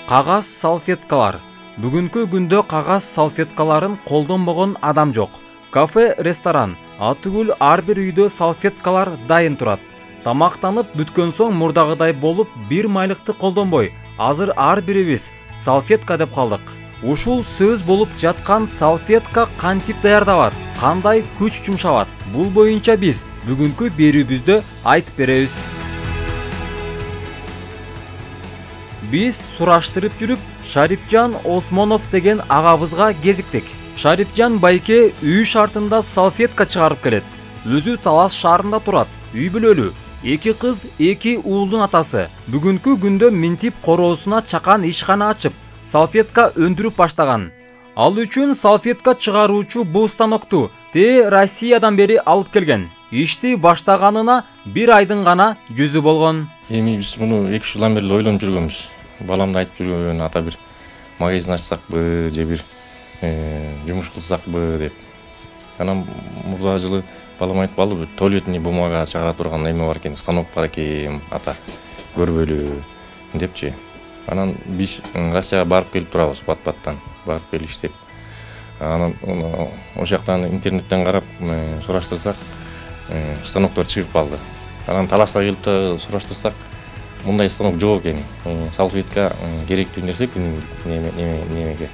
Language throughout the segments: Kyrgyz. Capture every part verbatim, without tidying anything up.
Кагаз салфеткалар. Бүгүнкү күндө кагаз салфеткаларын колдонбогон адам жок. Кафе, ресторан, атүгүл ар бир үйдө салфеткалар дайын турат. Тамактанып бүткөн соң мурдагыдай болуп бир майлыкты колдонбой, азыр ар бирибиз салфетка деп калдык. Ушул сөз болуп жаткан салфетка кантип даярдалат, кандай күч жумшалат? Бул боюнча биз бүгүнкү берүүбүздө айтып беребиз. Биз сураштырып жүрүп, Шарипжан Осмонов деген агабызга кезиктик. Шарипжан байке үй шартында салфетка чыгарып келет. Өзү Талас шаарында турат. Үй бүлөлүү. Эки кыз, эки уулдун атасы. Бүгүнкү күндө Минтип короосуна чакан ишкана ачып, салфетка өндүрүп баштаган. Ал үчүн салфетка чыгаруучу бул станокту Те Россиядан бери алып келген. Ишти баштаганына бир айдын гана жүзү болгон. Эми биз муну эки үч жылдан бери ойлонуп жүргөнбүз. Баламды айтып жүргөн, ата бир магазин ачсакпы, же бир жумуш кылсакпы деп. Анан мурда жылы балам айтып калды, туалетный бумага чыгара турган эме бар экен, станок бар экен, ата көрбөлү депчи. Анан биз Россияга барып келип турабыз, бат-баттан барып келип иштеп. Анан ошол жактан интернеттен карап сураштырсак, станоктор чыгып калды. Анан Таласка келип сураштырсак, мындай станок жок экен. Салфетка керектүү нерсе күнүмдүк немеге.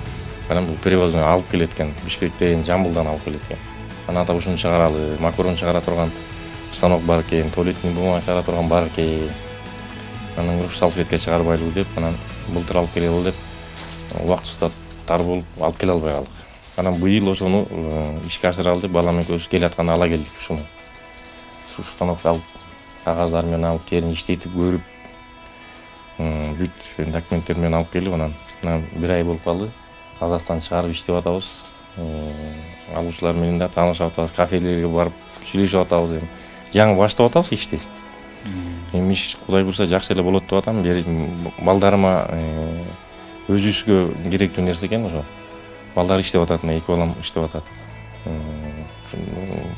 Анан бул перевозно алып келет экен, Бишкектен, Жамбылдан алып келет экен. Анан ата ушуну чыгаралы, макарон чыгара турган станок бар экен, туалетный бумага чыгара турган бар экен. Анан уруш салфетка чыгарбайлыбы деп, анан былтыр алып келели деп, убактыбызда тар болуп алып келе албай калдык. Анан быйыл ошону ишке ашыралы деп, балам экөөбүз келатканда ала келдик ушуну. Ушу станокду алып, кагаздар менен алып, жерин иштетип көрүп, бүт документтер менен алып келип, анан бир ай болуп калды. Казакстан чыгарып иштеп атабыз. Алуучулар менен да таанышып атабыз, кафелерге барып сүйлөшүп атабыз. Жаңы баштап атабыз ишти. Эми иш Кудай буйрса жакшы эле болот деп атам. Балдарыма өзүбүзгө керектүү нерсе экен ошо. Балдар иштеп атат, эки балам иштеп атат.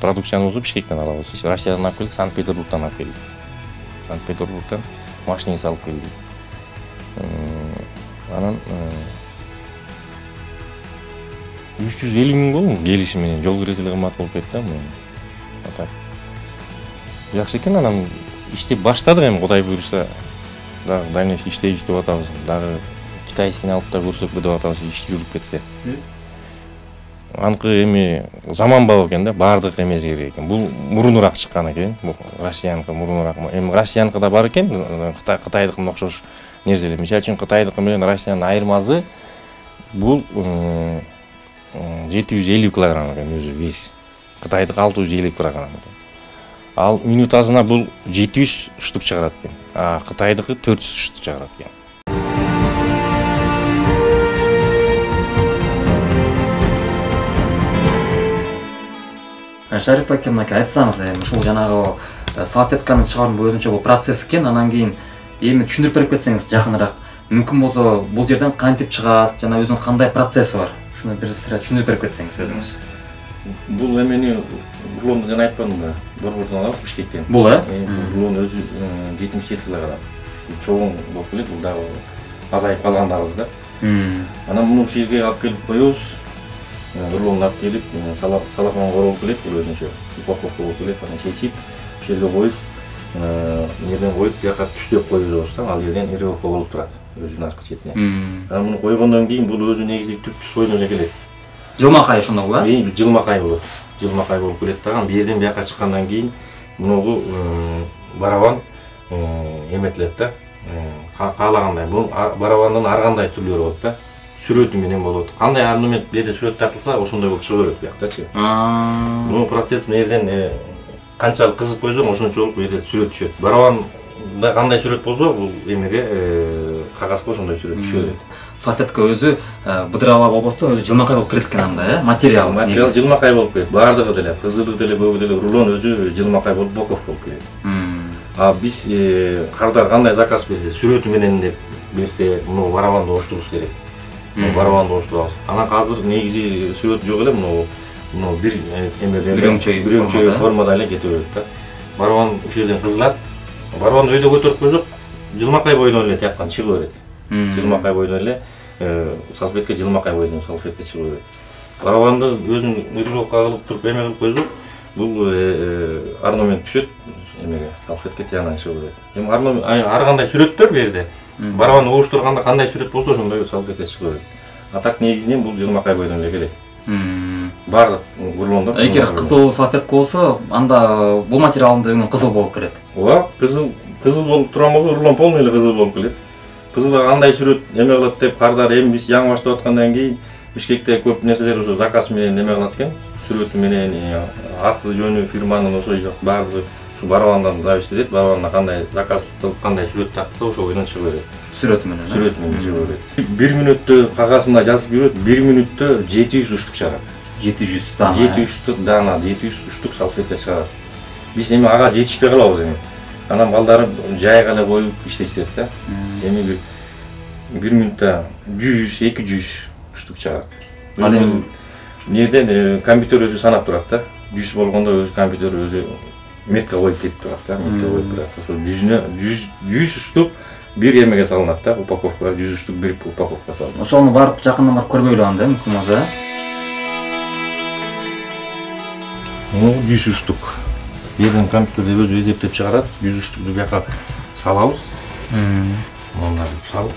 Продукциябызды Бишкектен алабыз. Россиядан алып келдик, Санкт-Петербургдан алып келдик. Санкт-Петербургдан машинеси алып келдик. Анан үч жүз элүү миң болду келиши менен, жол киреси эле кымбат болуп кетти да. Атап. Жакшы экен, анан иштеп баштадык, эми Кудай буйрса дагы дайнеш иштейбиз деп атабыз. Дагы китайскини алып да көрсөкпү деп атабыз, иш жүрүп кетсе. Анкы эми заманбап экен да, баардык эмес керек экен. Бул мурунураак чыккан экен, бул Россияныкы мурунураак. Эми Россияныкы да бар экен, Кытай Кытайдыкына окшош нерселер. Мисалы үчүн Кытайдыкы менен Россиянын айырмасы бул жети жүз элүү килограмм экен өзү вес. Кытайдыкы алты жүз элүү килограмм экен. Ал минутасына бул жети жүз штук чыгарат экен. А Кытайдыкы төрт жүз штук чыгарат экен. Шариф аке, мынакей айтсаңыз, эми ушул жанагы салфетканы чыгаруу өзүнчө бул процесс экен, анан кийин эми түшүндүрүп берип кетсеңиз жакыныраак. Мүмкүн болсо бул жерден кантип чыгат, жана өзүнүн кандай процесси бар? Шуну бир сыра түшүндүрүп берип кетсеңиз өзүңүз. Бул эмени рулонду жана айтпадым да, борбордон алып Бишкектен. Бул э? Рулон өзү жетимиш жети килограмм. Чоң болуп келет, бул дагы азайып калгандабыз да. Анан муну ушул жерге алып келип коебуз. Рулонду алып келип, салафон королуп келет, бул өзүнчө упаковка болуп келет, анан чечип, ушул жерге коюп, жерден коюп, жака түштөп коебуз да, ал жерден иревка болуп турат өзүнүн аркы четине. Анан муну койгондон кийин бул өзү негизи түптүс бойдон эле келет. Жылмакай ошондо бул э? Жылмакай болот. Жылмакай болуп келет дагы, бу жерден бияка чыккандан кийин мунугу барабан эметилет да. Каалагандай. Бул барабандын ар кандай түрлөрү болот да. Сүрөтү менен болот. Кандай арнамент жерде сүрөт тартылса, ошондой болуп чыга берет бияктачы. Бул процесс мерден канчалык кызып койсоң, ошончолук жерде сүрөт түшөт. Барабанда кандай сүрөт болсо, бул эмеге кагазга ошондой сүрөт түшө берет. Салфетка өзү быдырала болбостон өзү жылмакай болуп келет экен анда, э? Материал. Материал жылмакай болуп келет. Баардыгы деле, кызылы деле, көкү деле, рулон өзү жылмакай болуп, боков болуп келет. А биз кардар кандай заказ берсе, сүрөтү менен деп берсе, муну барабанды оштурубуз керек. Барабанды оштурабыз. Анан азыр негизи сүрөт жок эле, муну муну бир эмеде бирөңчөй формада эле кете берет да. Барабан ушул жерден кызылат. Барабанды өйдө көтөрүп койсок, жылмакай бойдон эле тияктан чыга берет. Жылмакай бойдон эле салфетка жылмакай бойдон салфетка чыгып берет. Барабанды өзүн регулировка кылып туруп эме кылып койсок, бул орнамент түшөт, эмеге салфетка тиянан чыгып берет. Эми орнамент ар кандай сүрөттөр бу жерде. Барабан угуштурганда кандай сүрөт болсо ошондой салфетка чыгып берет. А так негизинен бул жылмакай бойдон эле келет. Бардык рулондор. Эгер кызыл салфетка болсо, анда бул материалдын дөңү кызыл болуп келет. Ооба, кызыл кызыл болуп турган болсо, рулон полный эле кызыл болуп келет. Кызылга кандай сүрөт эме кылат деп кардар эми биз жаңы баштап аткандан кийин Бишкекте көп нерселер ошо заказ менен эме кылат экен. Сүрөтү менен, аты жөнү, фирманын ошо баардыгы ушу барабандан зависит этет. Барабанда кандай заказ кылып, кандай сүрөт тактса, ошо бойдон чыгып берет. Сүрөтү менен. Сүрөтү менен чыгып берет. бир мүнөттө кагазында жазып берет, бир мүнөттө жети жүз уштук чыгарат. жети жүз дана. жети жүз дана, жети жүз уштук салфетка чыгарат. Биз эми ага жетишпей калабыз эми. Анан балдары жайга эле коюп иштешет да. Эми бир бир мүнөттө жүз, эки жүз уштук чыгарат. Ал эми неден компьютер өзү санап турат да. жүз болгондо өзү компьютер өзү метка коюп кетип турат да, метка коюп турат. Ошо жүзүнө жүз уштук бир эмеге салынат да, упаковкага жүз уштук бир упаковка салынат. Ошону барып жакындан барып көрбөйлү анда, мүмкүн болсо. Ну, жүз уштук. Жерден компьютерде өзү эзептеп чыгарат, жүз уштукту бияка салабыз. Мындай салып.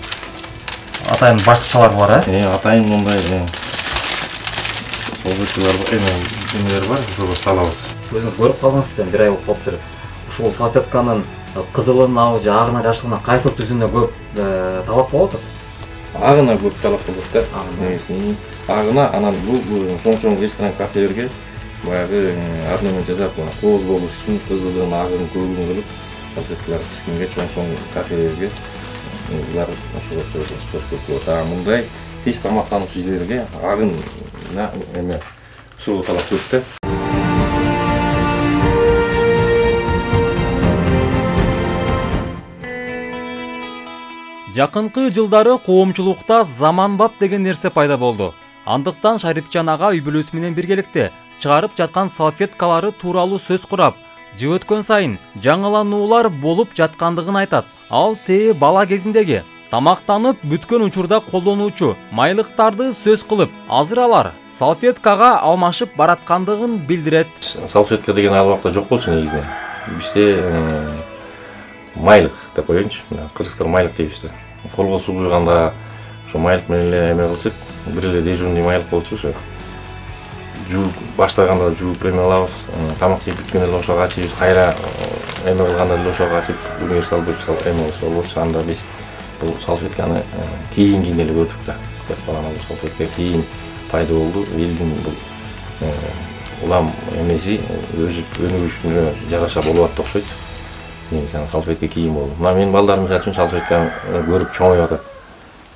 Атайын баштыкчалар бар, э? Э, атайын мындай салфеткалар бар, эмелер бар, ошого салабыз. Өзүңүз көрүп калдыңыз, бир ай болуп калыптыр. Ушул салфетканын кызылына же агына жашылына кайсы түсүнө көп талап болот? Агына көп талап болот да. Негизи агына, анан бул чоң-чоң ресторан, кафелерге баягы орнамент жасап, кооз болуш үчүн кызылын, агын, көөгүн кылып, салфеткалар тискенге чоң-чоң кафелерге булар ошого спрос болот. А мындай тез тамактануучу жерлерге агын эме суу талап көп да. Жакынкы жылдары коомчулукта заманбап деген нерсе пайда болду. Андыктан Шарипжан ага үй бүлөсү менен биргеликте чыгарып жаткан салфеткалары тууралуу сөз курап, жыл өткөн сайын жаңылануулар болуп жаткандыгын айтат. Ал тээ бала кезиндеги тамактанып бүткөн учурда колдонуучу майлыктарды сөз кылып, азыр алар салфеткага алмашып бараткандыгын билдирет. Салфетка деген ал убакта жок болчу негизинен. Бизде майлык деп коеюнчу. Кыргыздар майлык дейбиз да. Колго суу куйганда ошо майлык менен эле эме кылчык, бир эле дежурный майлык болчу ошо. Жууп баштаганда жууп эме кылабыз, тамак жеп бүткөн эле ошого ачыбыз, кайра эме кылганда эле ошого ачып, универсал деп салып эме болчу. Анда биз бул салфетканы кийин кийин эле көрдүк да. Сеп баланы бул салфетка кийин пайда болду. Элдин бул улам эмеси өзү өнүгүшүнө жараша болуп атты окшойт. Негизи салфетка кийин болду. Мына менин балдарым үчүн салфетка көрүп чоңоюп атат.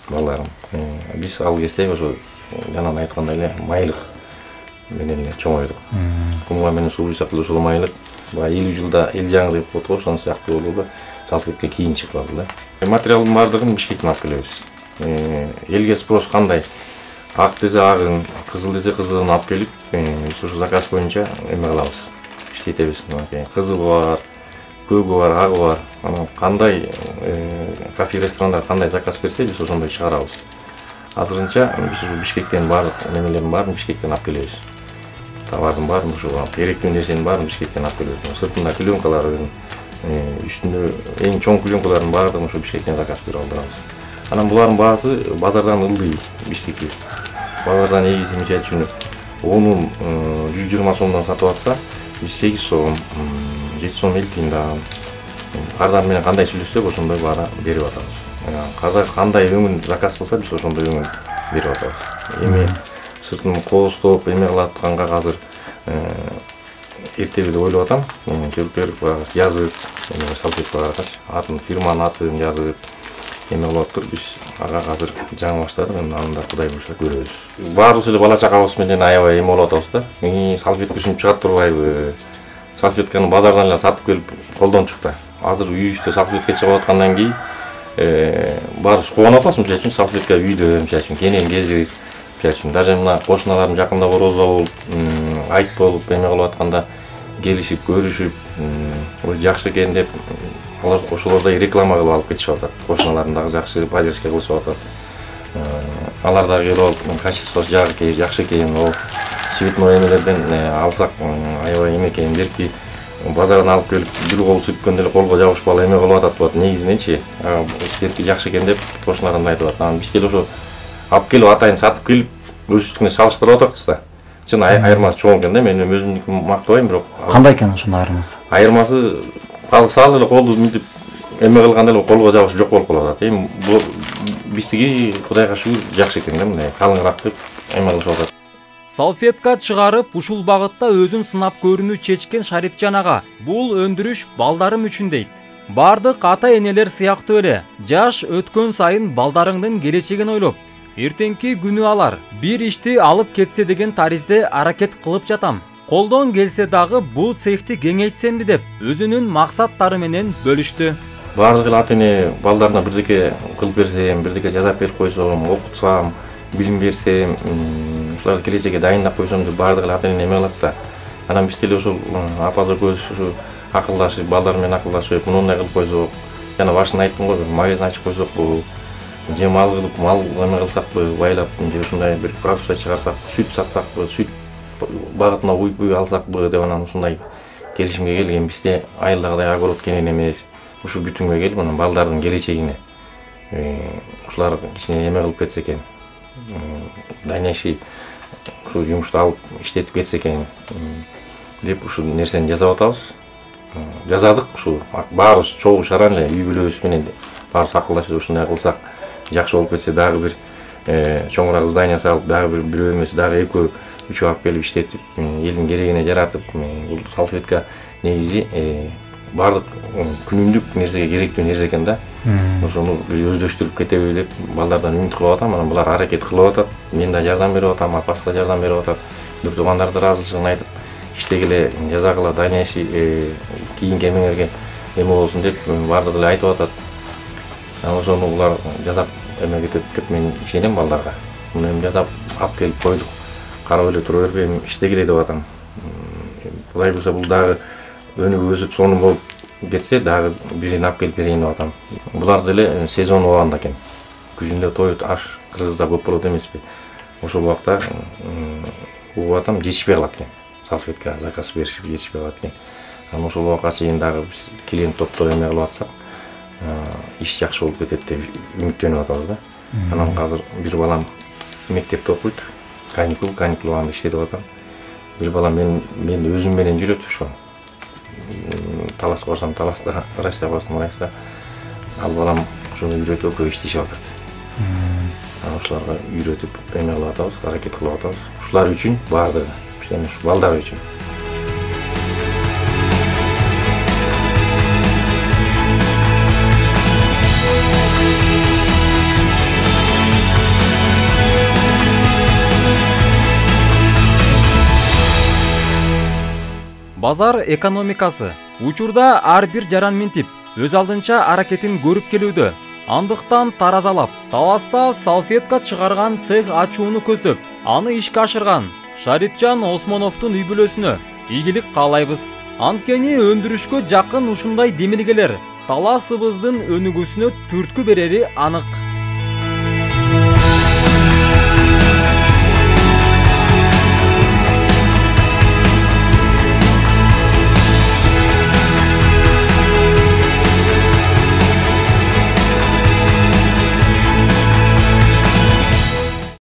Балдарым. Биз ал кезде ошо жанагы айткандай эле майлык менен эле чоңойдук. Кумга менен суу куйсак эле ошол майлык баягы элүү жылда эл жаңы деп коет го, ошон сыяктуу болду да. Салфетка кийин чыгып калды да. Материалдын баардыгын Бишкектен алып келебиз. Элге спрос кандай? Ак десе агын, кызыл десе кызылын алып келип, биз ошо заказ боюнча эме кылабыз. Иштетебиз. Кызыл бар, көөгү бар, агы бар. Анан кандай кафе, ресторандар кандай заказ берсе, биз ошондой чыгарабыз. Азырынча биз ушу Бишкектен баардык немелердин баарын Бишкектен алып келебиз. Товардын баарын ошо керектүү нерсенин баарын Бишкектен алып келебиз. Сыртында пленкаларын, үстүндө эң чоң пленкалардын баардыгын ошо Бишкектен заказ берип алдырабыз. Анан булардын баасы базардан ылдый биздики. Базардан негизи мисалы үчүн онун жүз жыйырма сомдон сатып атса, биз сегиз сом, жети сом элүү тыйындан кардар менен кандай сүйлөшсөк ошондой баара берип атабыз. Казак кандай өңүн заказ кылса, биз ошондой өңүн берип атабыз. Эми сыртын кооздоп эме кылып атканга азыр эртебиде ойлоп атам. Келиптер жазып, салфеткага атын, фирманын атын жазып эме кылып атып, биз ага азыр жаңы баштадык, анда Кудай буйруса көрөбүз. Баарыбыз эле бала чакабыз менен аябай эме болуп атабыз да. Салфетка үчүн чыгат турбайбы? Салфетканы базардан эле сатып келип колдончук да. Азыр үйүбүздө салфетка чыгып аткандан кийин баарыбыз кубанып атабыз. Мисалы үчүн салфетка үйдө, мисалы үчүн кенен кезип, мисалы үчүн даже мына кошуналарым жакында орозо болуп, айт болуп эме кылып атканда келишип, көрүшүп, ой жакшы экен деп алар ошолордой реклама кылып алып кетишип атат. Кошуналарын дагы жакшы поддержка кылышып атат. Алар дагы келип алып качествосы жагы жакшы экен, о цветной эмелерден алсак аябай эме экен депки базардан алып келип бир кол сүткөндө эле колго жабышпалы эме кылып атат болот. Негизиненчи сиздерки жакшы экен деп кошуналарым айтып атат. Анан биз деле ошо алып келип атайын сатып келип өз үстүнө салыштырып атабыз да. Чын айырмасы чоң экен да. Мен өзүмдүкүн мактабайм, бирок кандай экен ошондой айырмасы? Айырмасы салы эле колду мынтип эме кылганда эле колго жабышып жок болуп калып атат. Эми бул биздики Кудайга шүгүр жакшы экен да, мындай калыңыраак деп эме кылышып атат. Салфетка чыгарып, ушул багытта өзүн сынап көрүүнү чечкен Шарипжан ага бул өндүрүш балдарым үчүн дейт. Бардык ата-энелер сыяктуу эле жаш өткөн сайын балдарыңдын келечегин ойлоп, эртеңки күнү алар бир ишти алып кетсе деген таризде аракет кылып жатам. Колдон келсе дагы бул цехти кеңейтсемби деп өзүнүн максаттары менен бөлүштү. Бардык эле ата-эне балдарына бирдеке кылып берсем, бирдеке жазап берип койсом, окутсам, билим берсем, ушуларды келечекке дайындап койсом деп бардык эле ата-эне эме кылат да. Анан биз деле ошол апа экөөбүз ушу акылдашып, балдар менен акылдашып, мындай кылып койсок, жана башында айттым го, магазин ачып койсокпу, же мал кылып, мал эме кылсакпы, байлап, же ушундай бир продукция чыгарсак, сүт сатсакпы, сүт багытына уй-буй алсакпы деп анан ушундай келишимге келген. Бизде айылдагыдай огород кенен эмес. Ушу бүтүнгө келип, анан балдардын келечегине ушулар кичине эме кылып кетсе экен. Дальнейший ушу жумушту алып иштетип кетсе экен деп ушул нерсени жасап атабыз. Жазадык ушу баарыбыз чогуу шаран эле үй бүлөбүз менен баарыбыз акылдашып ушундай кылсак жакшы болуп кетсе, дагы бир чоңураак здание салып, дагы бир бирөө эмес, дагы экөө үчөө алып келип иштетип, элдин керегине жаратып, бул салфетка негизи бардык күнүмдүк нерсеге керектүү нерсе экен да. Ошону бир өздөштүрүп кетеби деп балдардан үмүт кылып атам. Анан булар аракет кылып атат. Мен да жардам берип атам, апасы да жардам берип атат. Бир туугандар да ыраазычылыгын айтып, иштегиле, жазагыла, дальнейший кийинки эмеңерге эме болсун деп бардык эле айтып атат. Анан ошону булар жасап эме кетет деп мен ишенем балдарга. Муну эми жасап алып келип койдук. Карап эле тура бербейм, иштегиле деп атам. Кудай буюрса бул дагы өнүгүп өсүп сонун болуп кетсе, дагы бирин алып келип берейин деп атам. Булар деле сезон болгондо экен. Күзүндө той аш кыргызда көп болот эмеспи? Ошол убакта угуп атам, жетишпей калат экен. Салфетка заказ беришип жетишпей калат экен. Анан ошол убакка чейин дагы биз клиент топтор эме кылып атсак, иш жакшы болуп кетет деп үмүттөнүп атабыз да. Анан азыр бир балам мектепте окуйт. Каникул, каникул убагында иштетип атам. Бир балам мен мен өзүм менен жүрөт ошо. Талас барсам таласта, Райста барсам Райста. Ал балам ошону үйрөтүп экөө иштешип атат. Анан ошолорго үйрөтүп эме кылып атабыз, аракет кылып атабыз. Ушулар үчүн бардыгы, жана ушу балдар үчүн. Базар экономикасы учурда ар бир жаран минтип өз алдынча аракетин көрүп келүүдө. Андыктан таразалап, Таласта салфетка чыгарган цех ачууну көздөп, аны ишке ашырган Шарипжан Осмоновдун үй бүлөсүнө ийгилик каалайбыз. Анткени өндүрүшкө жакын ушундай демилгелер Таласыбыздын өнүгүүсүнө түрткү берери анык.